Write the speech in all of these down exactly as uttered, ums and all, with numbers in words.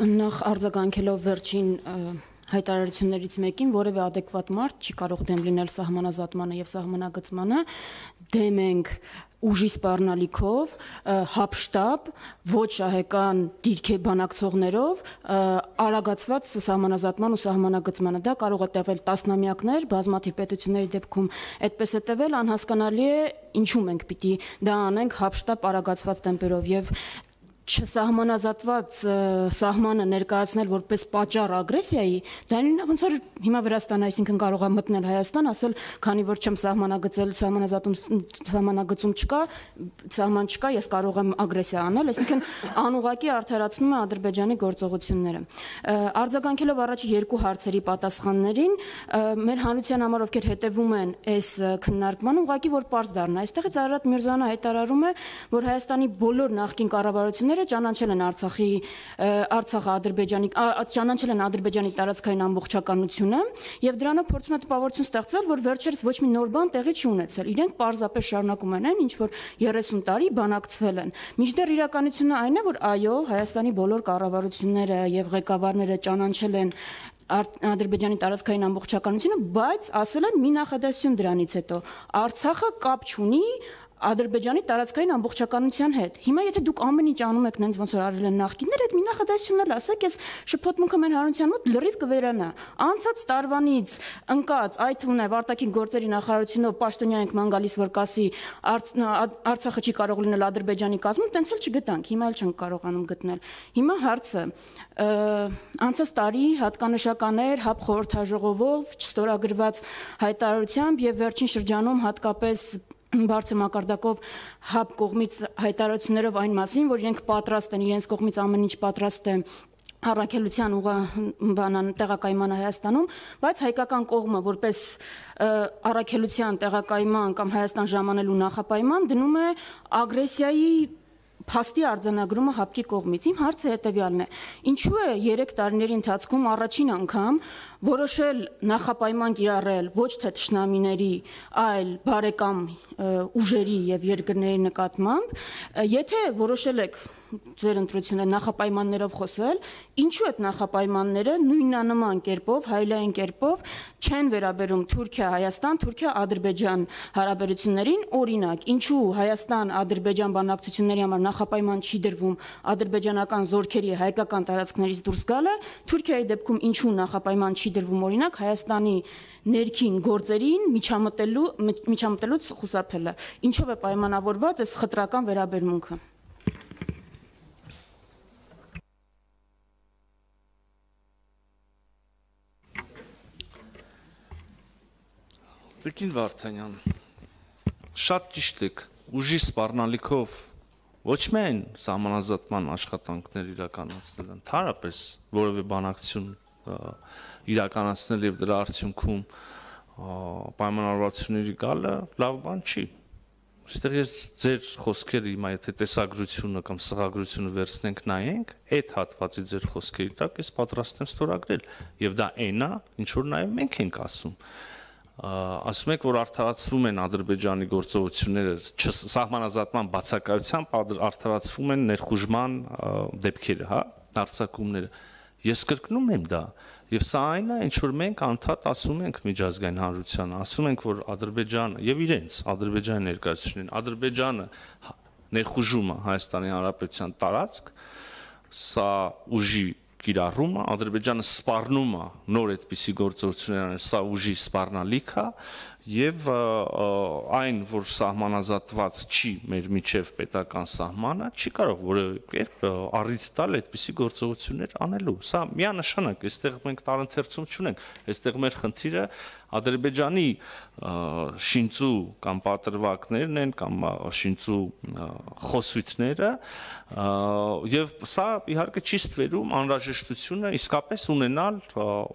Նախ արձագանքելով վերջին հայտարարություններից մեկին, որևէ adekvat մարդ չի կարող դեմ լինել սահմանազատմանը եւ սահմանագծմանը, դեմ ենք ուժի սպառնալիքով, հապշտապ, ոչ շահեկան դիրքի բանակցողներով, արագացված սահմանազատման ու սահմանագծմանը։ Դա կարող է տևել տասնամյակներ, բազմաթիվ պետությունների դեպքում այդպես է տևել, անհասկանալի է ինչու մենք պիտի դա անենք հապշտապ արագացված տեմպերով եւ չսահմանազատված սահմանը ներկայացնել որպես պատճառ ագրեսիայի, դա ոնց որ հիմա Վրաստանը, այսինքն կարող է մտնել Հայաստան, ասել, քանի որ չեմ սահմանագծել, սահմանազատում սահմանագծում չկա, սահման չկա, ես կարող եմ ագրեսիա անել, այսինքն անուղղակի արդարացնում է Ադրբեջանի գործողությունները։ Արձագանքելով առաջի երկու հարցերի պատասխաններին, մեր հանրության համար ովքեր հետևում են այս քննարկմանը, ուղղակի որ պարզ դառնա, այստեղից Արարատ Միրզոյանը հայտարարում է, որ Հայաստանի բոլոր նախկին կառավարությունները ճանաչել են Արցախի Արցախը Ադրբեջանի ճանաչել են Ադրբեջանի տարածքային ամբողջականությունը եւ դրանով փորձում է տպավորություն ստեղծել, որ վերջերս ոչ մի նոր բան տեղի չի ունեցել։ Իրենք պարզապես շարունակում են այն, ինչ որ երեսուն տարի բանակցվել են։ Մինչդեռ իրականությունը այն է, որ այո, Հայաստանի բոլոր կառավարությունները եւ ղեկավարները ճանաչել են Ադրբեջանի տարածքային ամբողջականությունը, բայց ասել են մի նախադասություն դրանից հետո Արցախը կապ չունի Ադրբեջանի տարածքային ամբողջականության հետ։ Հիմա եթե դուք ամեն ինչ անում եք նենց ոնց որ արել են նախկինները, այդ մի նախադասությունն էլ ասեք, այս շփոթմունքը մեր հանրության մոտ լրիվ կվերանա։ Անցած տարվանից ընկած, այդ թվում է արտաքին գործերի նախարարությունով պաշտոնյա ենք ման գալիս, որ կասի Արցախը չի կարող լինել Ադրբեջանի կազմում, տենց էլ չգտանք, հիմա էլ չենք կարողանում գտնել։ Հիմա հարցը անցած տարի հատկանշական էր ՀԱՊ խորհրդաժողովով չստորագրված հայտարարությամբ եւ վերջին շրջանում հատկապես բարձր մակարդակով ՀԱՊ կողմից հայտարարություններով այն մասին, որ իրենք պատրաստ են, իրենց կողմից ամեն ինչ պատրաստ է առաքելության ուղղանան տեղակայմանը Հայաստանում, բայց հայկական կողմը որպես առաքելության տեղակայման կամ Հայաստան ժամանելու նախապայման դնում է ագրեսիայի փաստի արձանագրումը ՀԱՊԿ-ի կողմից։ Իմ հարցը հետևյալն է. ինչու է երեք տարիների ընթացքում առաջին անգամ որոշել նախապայման կիրառել ոչ թե թշնամիների, այլ բարեկամ ուժերի եւ երկրների նկատմամբ, եթե որոշել եք ձեր ընտրությունը նախապայմաններով խոսել, ինչու այդ նախապայմանները նույնանման կերպով, հայլային կերպով չեն վերաբերում Թուրքիա-Հայաստան, Թուրքիա-Ադրբեջան հարաբերություններին, օրինակ, ինչու Հայաստան-Ադրբեջան բանակցությունների համար նախապայման չի դրվում ադրբեջանական զորքերի հայկական տարածքներից դուրս գալը, Թուրքիայի դեպքում ինչու նախապայման չի դրվում օրինակ Հայաստանի ներքին գործերին միջամտելու միջամտելուց խուսափելը, ինչով է պայմանավորված այս խտրական վերաբերմունքը։ Տիկին Վարդանյան, շատ ճիշտ եք, ուժի սպառնալիքով ոչ միայն սահմանազատման աշխատանքներ իրականացնել, ընդհանրապես որևէ բանակցություն իրականացնել եւ դրա արդյունքում պայմանավորվածությունների գալը լավ բան չի։ Այստեղ ես ձեր խոսքերը հիմա եթե տեսագրությունը կամ սղագրությունը վերցնենք նայենք, այդ հատվածի ձեր խոսքերի տակ ես պատրաստ եմ ստորագրել եւ դա այնա, ինչ որ նաեւ մենք ենք ասում։ Ասում եք, որ արդարացվում են Ադրբեջանի գործողությունները սահմանազատման բացակայությամբ արդարացվում են ներխուժման դեպքերը, հա, արձակումները։ Ես կրկնում եմ դա, եւ սա այն է, ինչ որ մենք անդադ ասում ենք միջազգային հանրությանը, ասում ենք, որ Ադրբեջանը եւ իրենց Ադրբեջանի ներկայացուցիչներին, Ադրբեջանը ներխուժումը Հայաստանի Հանրապետության տարածք, սա ուժի կիրառումը, Ադրբեջանը սպառնում է նոր այդպիսի գործողություններ, սա ուժի սպառնալիք է եւ այն, որ սահմանազատված չի մեր միջև պետական սահմանը, չի կարող որևէ կերպ առիթ տալ այդպիսի գործողություններ անելու։ Սա միանշանակ, այստեղ մենք տարընթերցում չունենք, այստեղ մեր խնդիրը Ադրբեջանի շինծու կամ պատրվակներն են կամ շինծու խոսույթները եւ սա իհարկե չի ստվերում անհրաժեշտությունը իսկապես ունենալ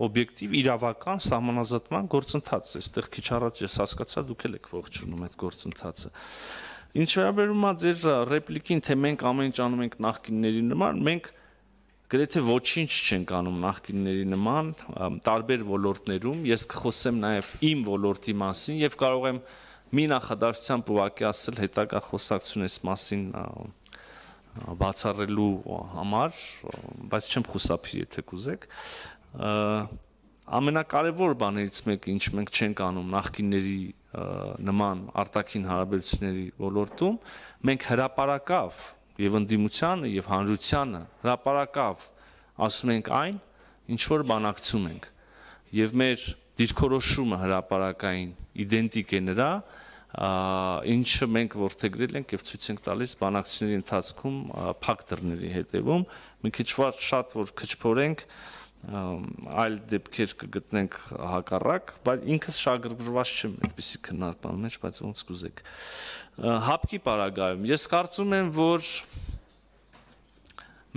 օբյեկտիվ իրավական սահմանազատման գործընթաց։ Այստեղ քիչ առաջ ես հասկացա դուք եք ողջունում այդ գործընթացը։ Ինչ վերաբերում է ձեր ռեպլիկին, թե մենք ամեն ինչ անում ենք նախկինների նման, մենք գրեթե ոչինչ չենք անում նախկինների նման տարբեր ոլորտներում, ես կխոսեմ նաև իմ ոլորտի մասին եւ կարող եմ մի նախադասությամբ ուղղակի ասել հետագա խոսակցություն այս մասին բացառելու համար, բայց չեմ խուսափի, եթե կուզեք, ամենակարևոր բաներից մեկը, ինչ մենք չենք անում նախկինների նման արտաքին հարաբերությունների ոլորտում, մենք հրապարակավ եւ ընդդիմությանը եւ հանրությանը հրապարակավ ասում ենք այն, ինչ որ բանակցում ենք, եւ մեր դիրքորոշումը հրապարակային իդենտիկ է նրա, ինչը մենք որդեգրել ենք եւ ցույց ենք տալիս բանակցությունների ընթացքում փակ դռների հետեւում, մի քիչ շատ որ քչփորենք այլ դեպքեր կգտնենք հակառակ, բայց ինքս շահագրգռված չեմ այդպիսի քննարկման մեջ, բայց ոնց կուզեք։ Հապկի պարագայում ես կարծում եմ, որ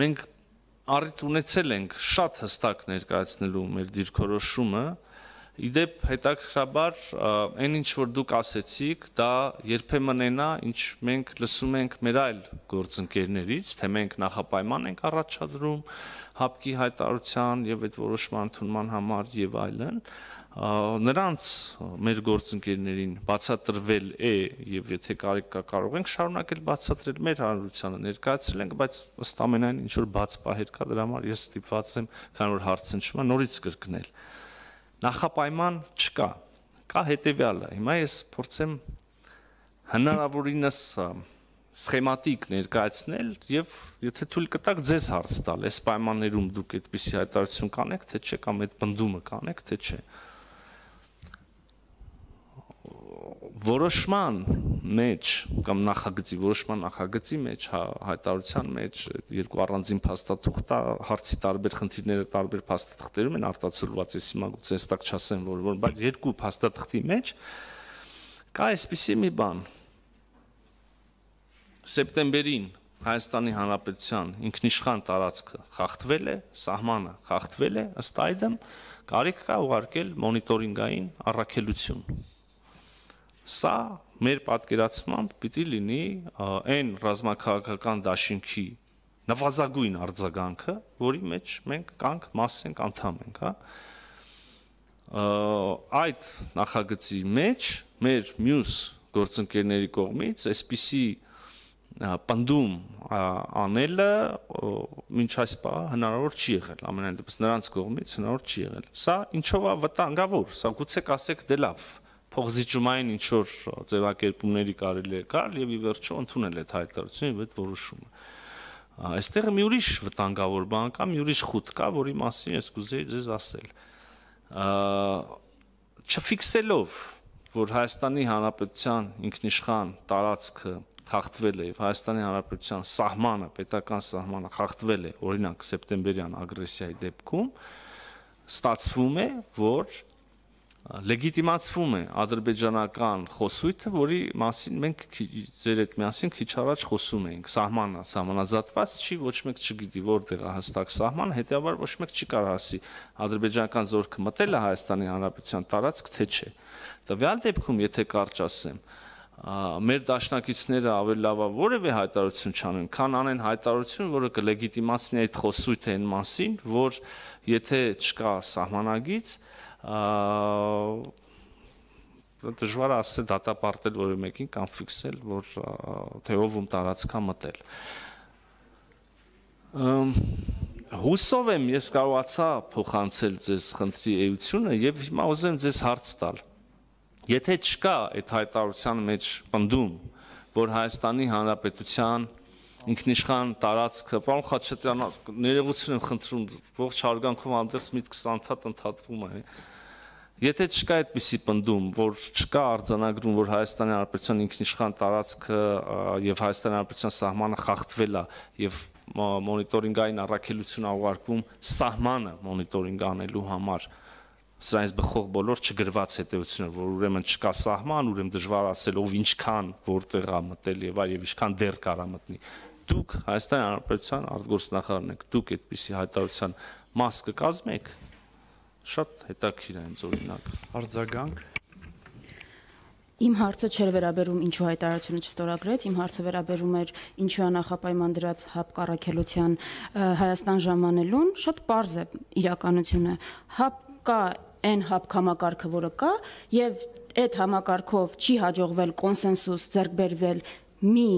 մենք առիթ ունեցել ենք շատ հստակ ներկայացնելու մեր դիրքորոշումը, իդեպ հետաքրքրաբար այն ինչ որ դուք ասեցիք, դա երբեմն այնա, ինչ մենք լսում ենք մեր այլ գործընկերներից, թե մենք նախապայման ենք առաջադրում հապկի հայտարարության եւ այդ որոշման ընդունման համար եւ այլն, նրանց մեր գործընկերներին բացատրվել է եւ եթե կարիք կա կարող ենք շարունակել բացատրել մեր հանրությանը ներկայացրել ենք, բայց ըստ ամենայն ինչ որ բաց պահեր կա դրա համար ես ստիպված եմ, քանի որ հարցը նշում է, նորից կրկնել։ Նախապայման չկա, կա հետևյալը, հիմա ես փորձեմ հնարավորինս սխեմատիկ ներկայացնել եւ եթե թույլ կտաք ձեզ հարց տալ, այս պայմաններում դուք այդպիսի հայտարարություն կանեք, թե չէ, կամ այդ բնդումը կանեք, թե չէ։ Որոշման մեջ կամ նախագծի, որոշման նախագծի մեջ, հայտարարության մեջ երկու առանձին փաստաթուղթ հարցի տարբեր խնդիրները տարբեր փաստաթղթերում են արտացոլված, ես հիմա գուցե հստակ չասեմ, որ որ, բայց երկու փաստաթղթի մեջ կա այսպիսի մի բան։ Սեպտեմբերին Հայաստանի Հանրապետության ինքնիշխան տարածքը խախտվել է, սահմանը խախտվել է, ըստ այդմ կարիք կա ուղարկել մոնիտորինգային առաքելություն։ Սա մեր պատկերացմամբ պիտի լինի այն ռազմաքաղաքական դաշինքի նվազագույն արձագանքը, որի մեջ մենք կանք մաս ենք, անդամ ենք, հա։ Այդ նախագծի մեջ մեր մյուս գործընկերների կողմից այսպիսի պնդում անելը մինչ այս պահ հնարավոր չի եղել, ամենայն դեպս նրանց կողմից հնարավոր չի եղել։ Սա ինչով է վտանգավոր, սա գուցե կասեք դե լավ, փողզիջումային ինչ որ ձևակերպումների կարելի է գալ եւ ի վերջո ընդունել այդ հայտարարությունը եւ այդ որոշումը։ Այստեղ մի ուրիշ վտանգավոր բան կա, մի ուրիշ խուտ կա, որի մասին ես կուզեի ձեզ ասել։ Չֆիքսելով, որ Հայաստանի Հանրապետության ինքնիշխան տարածքը խախտվել է եւ Հայաստանի Հանրապետության սահմանը, պետական սահմանը խախտվել է, օրինակ սեպտեմբերյան ագրեսիայի դեպքում, ստացվում է, որ լեգիտիմացվում է ադրբեջանական խոսույթը, որի մասին մենք ձեր հետ միասին քիչ առաջ խոսում էինք, սահմանը, սահմանազատված չի, ոչ մեկ չգիտի որտեղ է հստակ սահմանը, հետեւաբար ոչ մեկ չի կարող ասի ադրբեջանական զորքը մտել է Հայաստանի Հանրապետության տարածք, թե չէ։ Տվյալ դեպքում, եթե կարճ ասեմ, մեր դաշնակիցները ավելի լավ է որևէ հայտարարություն չանեն, քան անեն հայտարարություն, որը կլեգիտիմացնի այդ խոսույթը այն մասին, որ եթե չկա սահմանագիծ, դժվար է ասել դատապարտել որևէ մեկին կամ ֆիքսել, որ թե ով ում տարածքա մտել։ Հուսով եմ ես կարողացա փոխանցել ձեզ խնդրի էությունը եւ հիմա ուզում եմ ձեզ հարց տալ։ Եթե չկա այդ հայտարարության մեջ պնդում, որ Հայաստանի Հանրապետության ինքնիշխան տարածքը, պարոն Խաչատրյան, ներողություն եմ խնդրում, ողջ հարգանքով հանդերձ միտքս անդադ ընդհատվում է։ Եթե չկա այդպիսի պնդում, որ չկա արձանագրում, որ Հայաստանի Հանրապետության ինքնիշխան տարածքը եւ Հայաստանի Հանրապետության սահմանը խախտվել է եւ մոնիտորինգային առաքելություն ուղարկվում սահմանը մոնիտորինգ անելու համար, սրանից բխող բոլոր չգրված հետևությունները, որ ուրեմն չկա սահման, ուրեմն դժվար ասել ով ինչքան որտեղ է մտել եւ այլ եւ ինչքան դեռ կարա մտնի։ Դուք Հայաստանի Հանրապետության արտգործնախարարն եք, դուք այդպիսի հայտարարության մաս կկազմեք։ Շատ հետաքրքիր է ինձ օրինակ։ Արձագանք։ Իմ հարցը չէր վերաբերում ինչու հայտարարությունը չստորագրեց, իմ հարցը վերաբերում էր ինչու է նախապայման դրած հապկ առաքելության Հայաստան ժամանելուն, շատ պարզ է իրականությունը։ Հապ կա այն հապկ համակարգը, որը կա, եւ այդ համակարգով չի հաջողվել կոնսենսուս ձեռք բերվել մի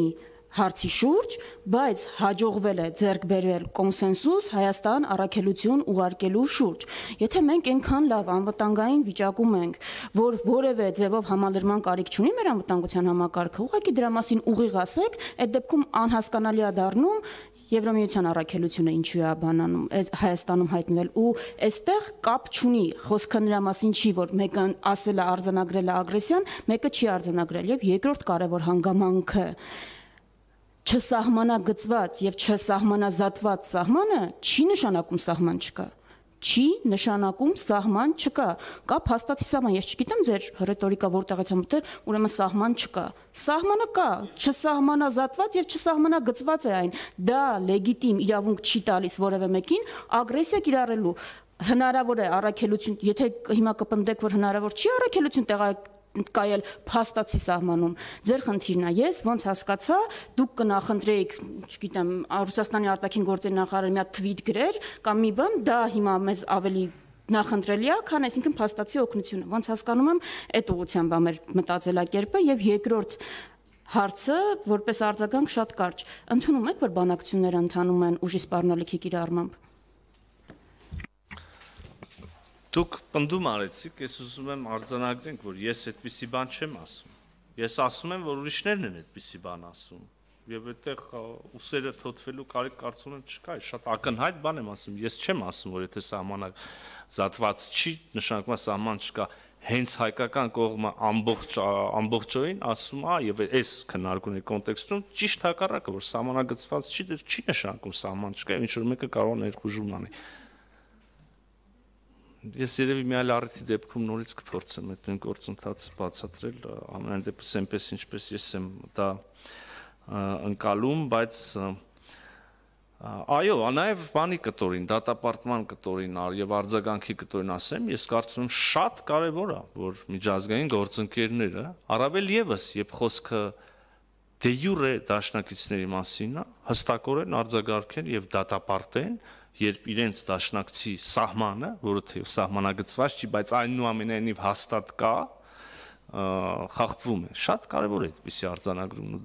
հարցի շուրջ, բայց հաջողվել է ձեռք բերել կոնսենսուս Հայաստան առաքելություն ուղարկելու շուրջ։ Եթե մենք այնքան լավ անվտանգային վիճակում ենք, որ որևէ ձևով համալրման կարիք չունի մեր անվտանգության համակարգը, ուղղակի դրա մասին ուղիղ ասեք, այդ դեպքում անհասկանալի է դառնում Եվրամիության առաքելությունը ինչու է բանանում Հայաստանում հայտնվել ու այստեղ կապ չունի, խոսքը նրա մասին չի, որ մեկը ասել է արձանագրել է ագրեսիան, մեկը չի արձանագրել եւ երկրորդ կարևոր հանգամանքը չսահմանագծված եւ չսահմանազատված սահմանը չի նշանակում սահման չկա։ Չի նշանակում սահման չկա։ Կա փաստացի սահման, ես չգիտեմ ձեր ռետորիկա որտեղից է մտել, ուրեմն սահման չկա։ Սահմանը կա, չսահմանազատված եւ չսահմանագծված է այն։ Դա լեգիտիմ իրավունք չի տալիս որևէ մեկին ագրեսիա կիրառելու։ Հնարավոր է առաքելություն, եթե հիմա կպնդեք, որ հնարավոր չի առաքելություն տեղայ կայել փաստացի սահմանում։ Ձեր խնդիրն է, ես ոնց հասկացա, դուք կնախընտրեիք, չգիտեմ, Ռուսաստանի արտաքին գործերի նախարարը մի հատ թվիթ գրեր կամ մի բան, դա հիմա մեզ ավելի նախընտրելի է, քան այսինքն փաստացի օգնությունը։ Ոնց հասկանում եմ, այդ ուղղությամբ է մեր մտածելակերպը եւ երկրորդ հարցը, որպես արձագանք շատ կարճ։ Ընդունում եք, որ բանակցությունները ընթանում են ուժի սպառնալիքի կիրառմամբ։ Դուք պնդում արեցիք, ես ուզում եմ արձանագրենք, որ ես այդպիսի բան չեմ ասում։ Ես ասում եմ, որ ուրիշներն են այդպիսի բան ասում։ Եվ այդտեղ ուսերը թոթվելու կարիք կարծում եմ չկա, շատ ակնհայտ բան եմ ասում։ Ես չեմ ասում, որ եթե սահմանազատված չի, նշանակում է սահման չկա։ Հենց հայկական կողմը ամբողջ ամբողջովին ասում է, եւ այս քննարկումների կոնտեքստում ճիշտ հակառակը, որ սահմանագծված չի, դեռ չի նշանակում սահման չկա, ինչ որ մեկը կարող է ներխուժում անի։ Ես երևի մի այլ առիթի դեպքում նորից կփորձեմ այդ նույն գործընթացը բացատրել, ամենայն դեպս այնպես ինչպես ես եմ դա ընկալում, բայց այո, նաև բանի կտորին, դատապարտման կտորին եւ արձագանքի կտորին ասեմ, ես կարծում եմ շատ կարեւոր է, որ միջազգային գործընկերները, առավել եւս, երբ խոսքը դե յուրե դաշնակիցների մասին է, հստակորեն արձագանքեն եւ դատապարտեն, երբ իրենց դաշնակցի սահմանը, որը թե սահմանագծված չի, բայց այնուամենայնիվ հաստատ կա, խախտվում է։ Շատ կարևոր է այդպիսի արձանագրումն ու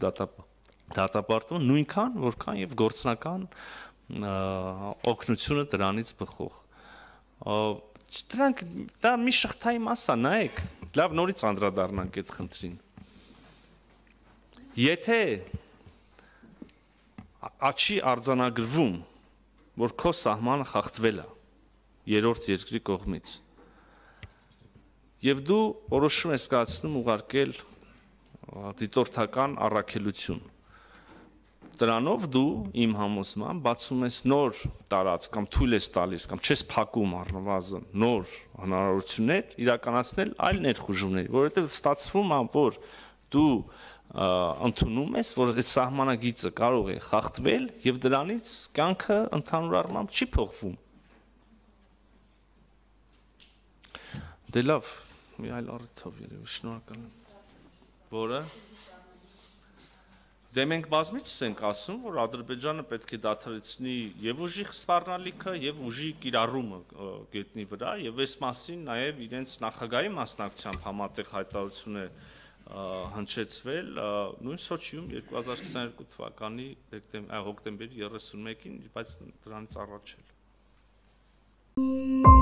դատապարտումը, նույնքան, որքան եւ գործնական օգնությունը դրանից բխող։ Դրանք դա մի շղթայի մաս է, նայեք, լավ նորից անդրադառնանք այդ խնդրին։ Եթե աչի արձանագրվում որ քո սահմանը խախտվել է երրորդ երկրի կողմից եւ դու որոշում ես կայացնում ուղարկել դիտորդական առաքելություն դրանով դու իմ համոզմամբ բացում ես նոր տարած կամ թույլ ես տալիս կամ չես փակում առնվազն նոր հնարավորություններ իրականացնել այլ ներխուժումների, որովհետեւ ստացվում է որ դու ընդունում ես, որ այդ սահմանագիծը կարող է խախտվել եւ դրանից կյանքը ընդհանուր առմամբ չի փոխվում։ Դե լավ, մի այլ առիթով երևի շնորհակալ եմ։ Որը Դե մենք բազմիցս ենք ասում, որ Ադրբեջանը պետք է դադարեցնի եւ ուժի սպառնալիքը եւ ուժի կիրառումը գետնի վրա եւ այս մասին նաեւ իրենց նախագահի մասնակցությամբ համատեղ հայտարարություն է հնչեցվել նույն Սոչիում երկու հազար քսաներկու թվականի հոկտեմբերի երեսունմեկին, բայց դրանից առաջ էլ։